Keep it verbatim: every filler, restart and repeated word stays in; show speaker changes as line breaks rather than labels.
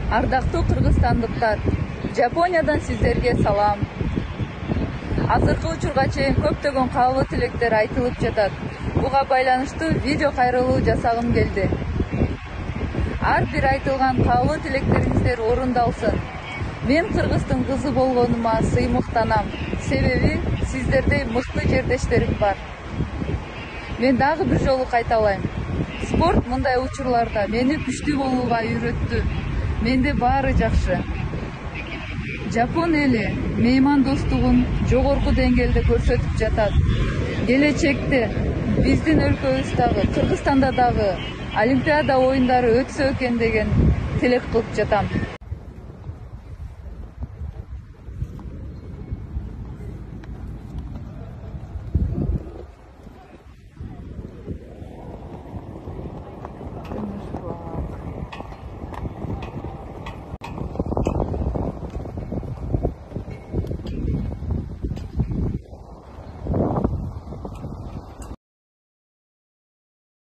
Ардактуу кыргызстандыктар, Жапониядан сиздерге салам. Азыркы учурга чейин көптөгөн каалоо тилектер айтылып жатат. Буга байланыштуу видео кайрылуу жасагым келди. Ар бир айтылган каалоо тилектериңиздер орундалсын. Мен кыргыздын кызы болгонума сыймыктанам. Себеби сиздердей мыкты жердештерим бар. Мен дагы бир жолу кайталайм. Спорт мындай учурларда мени күчтүү болууга үйрөттү. Менде баары жакшы. Жапон эли меймандостугун жогорку деңгээлде көрсөтүп жатат. Келечекте биздин өлкөбүздагы, Кыргызстанда дагы Олимпиада оюндары өтсө экен деген тилек кылып жатам.